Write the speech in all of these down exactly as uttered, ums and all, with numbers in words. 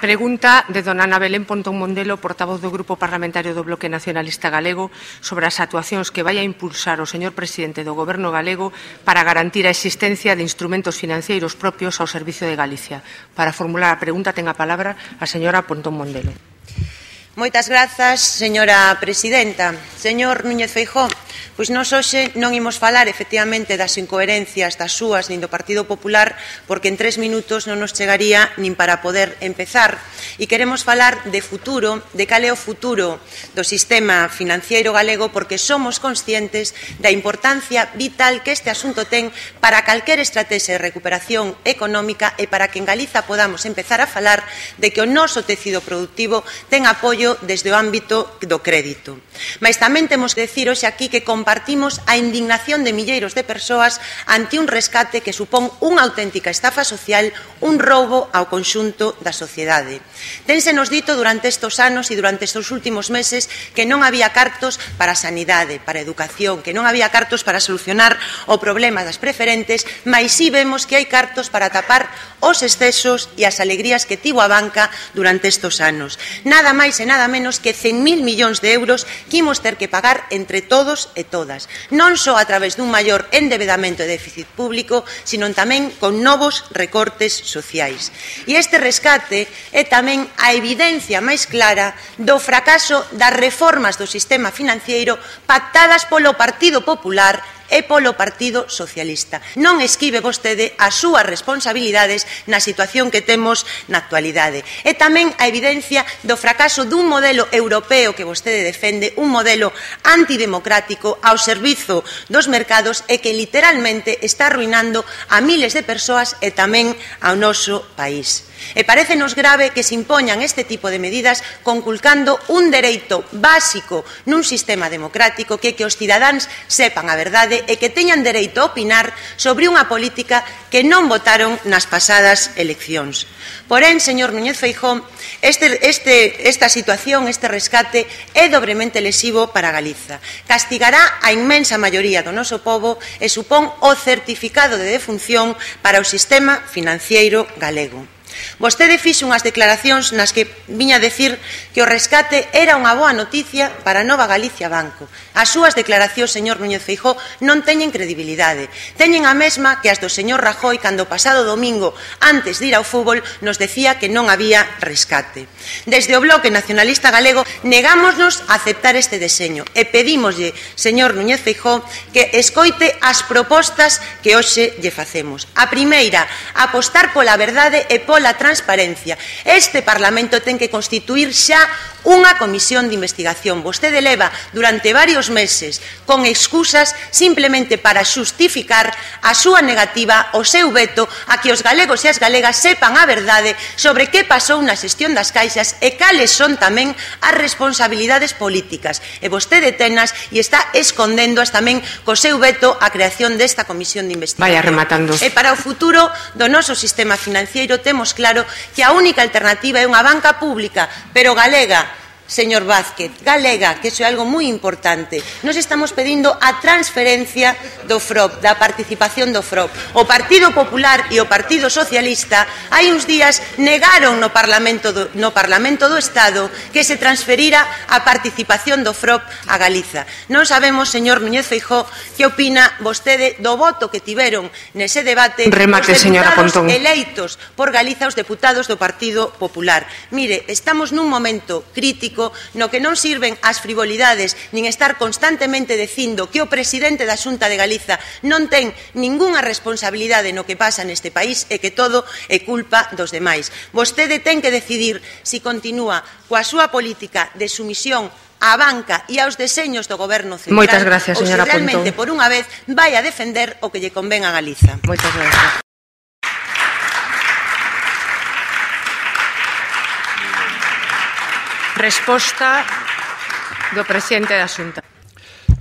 Pregunta de dona Ana Belén Pontón Mondelo, portavoz do Grupo Parlamentario do Bloque Nacionalista Galego, sobre as actuacións que vai a impulsar o señor presidente do Goberno galego para garantir a existencia de instrumentos financeiros propios ao servicio de Galicia. Para formular a pregunta ten a palabra a señora Pontón Mondelo. Moitas grazas, señora presidenta. Señor Núñez Feijóo, pois nós hoxe non imos falar efectivamente das incoherencias das súas nin do Partido Popular, porque en tres minutos non nos chegaría nin para poder empezar. E queremos falar de futuro, de cal é o futuro do sistema financiero galego, porque somos conscientes da importancia vital que este asunto ten para calquer estrategia de recuperación económica e para que en Galiza podamos empezar a falar de que o noso tecido productivo ten apoio desde o ámbito do crédito. Mais tamén temos que decir hoxe aquí que compartimos a indignación de milleiros de persoas ante un rescate que supón unha auténtica estafa social, un roubo ao conxunto da sociedade. Ténsenos dito durante estes anos e durante estes últimos meses que non había cartos para a sanidade, para a educación, que non había cartos para solucionar o problema das preferentes, mais si vemos que hai cartos para tapar os excesos e as alegrías que tivo a banca durante estes anos. Nada máis e nada menos que cen mil millóns de euros que imos ter que pagar entre todos e todas, non só a través dun maior endebedamento e déficit público, sino tamén con novos recortes sociais. E este rescate é tamén a evidencia máis clara do fracaso das reformas do sistema financiero pactadas polo Partido Popular e polo Partido Socialista. Non esquive vostede as súas responsabilidades na situación que temos na actualidade. É tamén a evidencia do fracaso dun modelo europeo que vostede defende, un modelo antidemocrático ao servizo dos mercados e que literalmente está arruinando a miles de persoas e tamén ao noso país. E parécenos grave que se impoñan este tipo de medidas conculcando un dereito básico nun sistema democrático que que os cidadáns sepan a verdade e que teñan dereito a opinar sobre unha política que non votaron nas pasadas eleccións. Porén, señor Núñez Feijóo, este, este, esta situación, este rescate é dobremente lesivo para Galiza. Castigará a inmensa maioría do noso pobo e supón o certificado de defunción para o sistema financiero galego. Vostede fixo unhas declaracións nas que viña a decir que o rescate era unha boa noticia para a Nova Galicia Banco. As súas declaracións, señor Núñez Feijóo, non teñen credibilidade. Teñen a mesma que as do señor Rajoy cando o pasado domingo, antes de ir ao fútbol, nos decía que non había rescate. Desde o Bloque Nacionalista Galego negámonos a aceptar este deseño e pedímoslle, señor Núñez Feijóo, que escoite as propostas que hoxe lle facemos. A primeira, apostar pola verdade e pola a transparencia. Este Parlamento ten que constituir xa unha comisión de investigación. Vostede leva durante varios meses con excusas simplemente para xustificar a súa negativa, o seu veto a que os galegos e as galegas sepan a verdade sobre que pasou na xestión das caixas e cales son tamén as responsabilidades políticas. E vostede tenas e está escondendoas tamén co seu veto á creación desta comisión de investigación. Vaya rematando. E para o futuro do noso sistema financiero temos claro que a única alternativa é unha banca pública, pero galega, señor Vázquez, galega, que iso é algo moi importante. Nos estamos pedindo a transferencia do F R O P, da participación do F R O P. O Partido Popular e o Partido Socialista hai uns días negaron no Parlamento do, no Parlamento do Estado que se transferira a participación do F R O P a Galiza. Non sabemos, señor Núñez Feijóo, que opina vostede do voto que tiveron nese debate Remate, os deputados eleitos por Galiza, os deputados do Partido Popular. Mire, estamos nun momento crítico no que non sirven as frivolidades nin estar constantemente dicindo que o presidente da Xunta de Galiza non ten ningunha responsabilidade no que pasa neste país e que todo é culpa dos demais. Vostede ten que decidir se continúa coa súa política de sumisión á banca e aos deseños do Goberno central. Moitas gracias, señora Pontón. Ou se realmente, por unha vez, vai a defender o que lle convén a Galiza. Moitas gracias. Resposta do presidente da Xunta.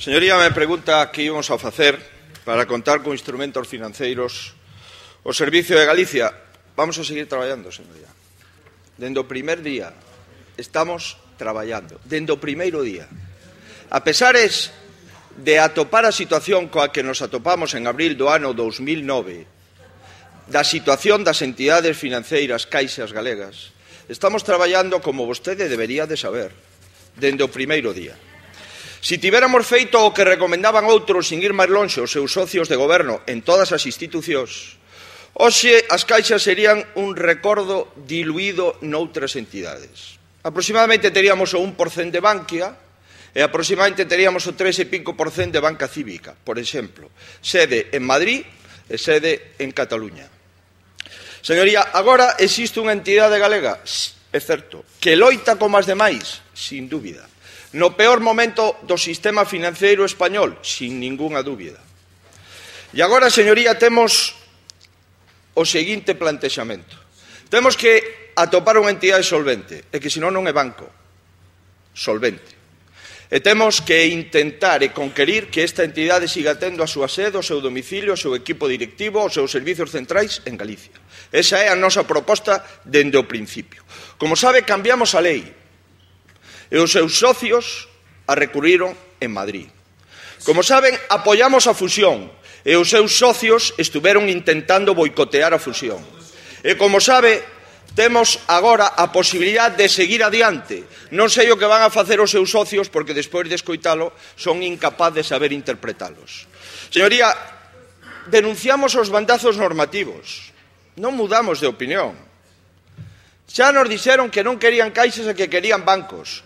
Señoría, me pregunta que íbamos a facer para contar con instrumentos financeiros o Servicio de Galicia. Vamos a seguir traballando, señoría. Dende o primer día estamos traballando, dende o primeiro día. A pesares de atopar a situación coa que nos atopamos en abril do ano dous mil nove, da situación das entidades financeiras caixas galegas, estamos traballando como vostede debería de saber, dende o primeiro día. Se tivéramos feito o que recomendaban outros sin ir máis lonxe os seus socios de goberno en todas as institucións, hoxe as caixas serían un recordo diluído noutras entidades. Aproximadamente teríamos o un por cento de Bankia e aproximadamente teríamos o tres e pico por cento de Banca Cívica, por exemplo, sede en Madrid e sede en Cataluña. Señoría, agora existe unha entidade galega, é certo, que loita como as demais, sin dúbida. No peor momento do sistema financeiro español, sin ningunha dúbida. E agora, señoría, temos o seguinte plantexamento. Temos que atopar unha entidade solvente, e que senón non é banco, solvente. E temos que intentar e conquerir que esta entidade siga tendo a súa sede, o seu domicilio, o seu equipo directivo, os seus servizos centrais en Galicia. Esa é a nosa proposta dende o principio. Como sabe, cambiamos a lei e os seus socios a recurriron en Madrid. Como saben, apoiamos a fusión e os seus socios estuveron intentando boicotear a fusión. E como sabe, temos agora a posibilidade de seguir adiante. Non sei o que van a facer os seus socios porque despois de escoitalo son incapaz de saber interpretalos. Señoría, denunciamos os bandazos normativos. Non mudamos de opinión. Xa nos dixeron que non querían caixas e que querían bancos.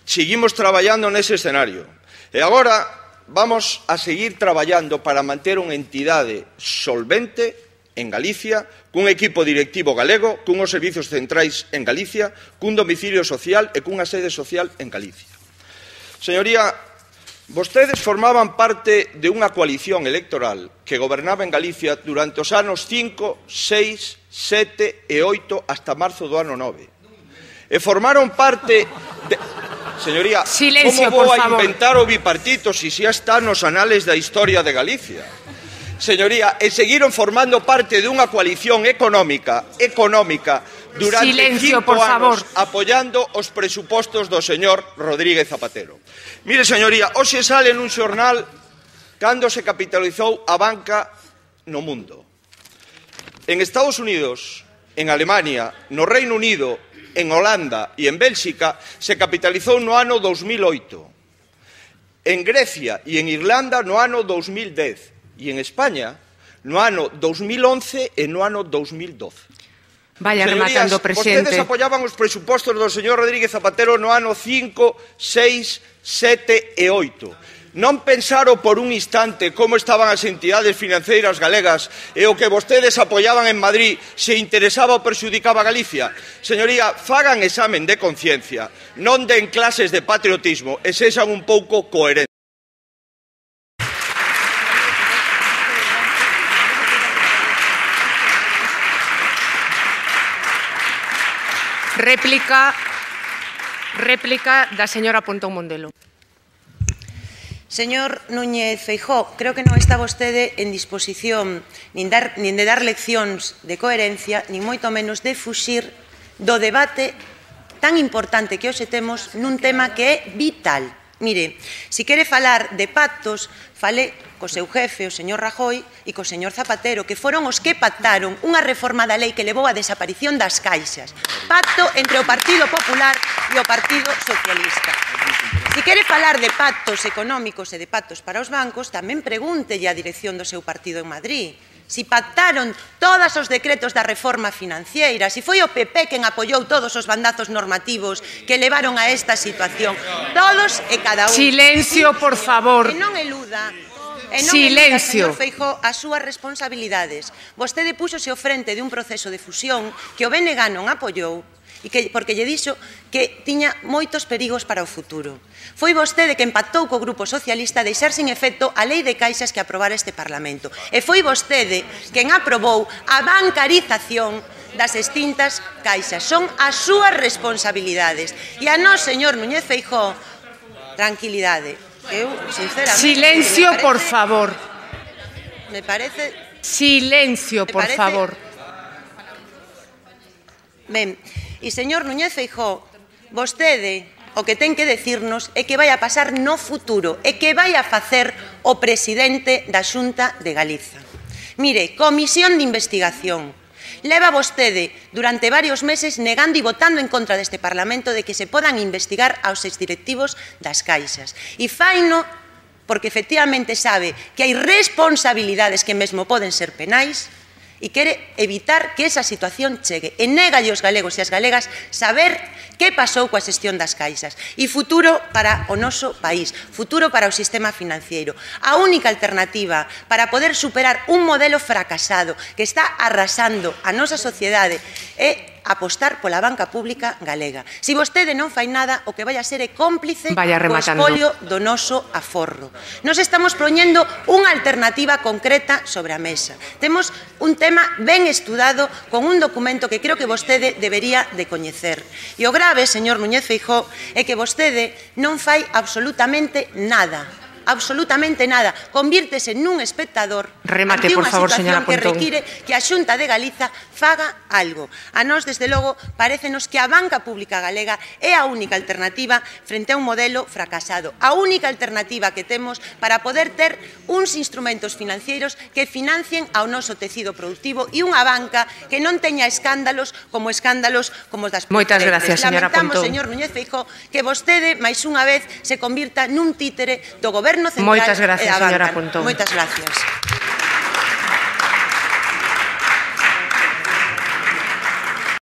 Seguimos traballando nese escenario. E agora vamos a seguir traballando para manter unha entidade solvente en Galicia, cun equipo directivo galego, cunhos servizos centrais en Galicia, cun domicilio social e cunha sede social en Galicia. Señoría, vostedes formaban parte de unha coalición electoral que gobernaba en Galicia durante os anos cinco, seis, sete e oito hasta marzo do ano nove. E formaron parte de... Señoría, Silencio, como vou a favor. inventar o bipartito se xa está nos anales da historia de Galicia? Señoría, e seguiron formando parte de unha coalición económica, económica, durante Silencio, cinco por favor. anos, apoiando os presupostos do señor Rodríguez Zapatero. Mire, señoría, hoxe sale nun xornal cando se capitalizou a banca no mundo. En Estados Unidos, en Alemania, no Reino Unido, en Holanda e en Bélxica, se capitalizou no ano dos mil oito. En Grecia e en Irlanda no ano dos mil dez. E en España no ano dos mil once e no ano dos mil doce. Vaya rematando, presidente. Vostedes apoiaban os presupostos do señor Rodríguez Zapatero no ano cinco, seis, sete e oito. Non pensaron por un instante como estaban as entidades financeiras galegas e o que vostedes apoiaban en Madrid se interesaba ou perxudicaba a Galicia. Señoría, fagan examen de conciencia, non den clases de patriotismo e sexan un pouco coherentes. Réplica, réplica da señora Pontón Mondelo. Señor Núñez Feijóo, creo que non está vostede en disposición nin, dar, nin de dar leccións de coherencia, nin moito menos de fuxir do debate tan importante que hoxe temos nun tema que é vital. Mire, se quere falar de pactos, fale co seu jefe, o señor Rajoy, e co señor Zapatero, que foron os que pactaron unha reforma da lei que levou á desaparición das caixas. Pacto entre o Partido Popular e o Partido Socialista. Se quere falar de pactos económicos e de pactos para os bancos, tamén pregúntelle á dirección do seu partido en Madrid. Si pactaron todos os decretos da reforma financiera, si foi o P P quen apoiou todos os bandazos normativos que levaron a esta situación. Todos e cada un. Silencio, por favor. E non eluda, e non Silencio. eluda, señor Feijóo, as súas responsabilidades. Vostede púxose ao frente de un proceso de fusión que o B N G non apoiou, e que, porque lle dixo que tiña moitos perigos para o futuro. Foi vostede que pactou co Grupo Socialista deixar sin efecto a lei de caixas que aprobara este Parlamento. E foi vostede quen aprobou a bancarización das extintas caixas. Son as súas responsabilidades. E a nós, señor Núñez Feijóo, tranquilidade. Eu, sinceramente... Silencio, parece, por favor. Me parece... Silencio, por me parece, favor. Ben, e señor Núñez Feijóo, vostede o que ten que decirnos é que vai a pasar no futuro e que vai a facer o presidente da Xunta de Galiza. Mire, comisión de investigación. Leva vostede durante varios meses negando e votando en contra deste Parlamento de que se podan investigar aos exdirectivos das caixas. E faino porque efectivamente sabe que hai responsabilidades que mesmo poden ser penais e quere evitar que esa situación chegue. E négalle aos galegos e as galegas saber que pasou coa xestión das caixas. E futuro para o noso país, futuro para o sistema financiero. A única alternativa para poder superar un modelo fracasado que está arrasando a nosa sociedade é apostar pola banca pública galega. Se vostede non fai nada, o que vai a ser é cómplice co espolio do noso aforro. Nos estamos poñendo unha alternativa concreta sobre a mesa. Temos un tema ben estudado con un documento que creo que vostede debería de coñecer. E o grave, señor Núñez Feijóo, é que vostede non fai absolutamente nada. absolutamente nada, convírtese nun espectador Remate, ante por unha favor, situación que Pontón. require que a Xunta de Galiza faga algo. A nós, desde logo, parécenos que a banca pública galega é a única alternativa frente a un modelo fracasado. A única alternativa que temos para poder ter uns instrumentos financeiros que financien ao noso tecido productivo e unha banca que non teña escándalos como escándalos como os das Moitas gracias, señora Lamentamos, Pontón. señor Núñez Feijóo, que vostede, máis unha vez, se convirta nun títere do Goberno Central Moitas gracias, e da señora banca. Pontón. Moitas gracias.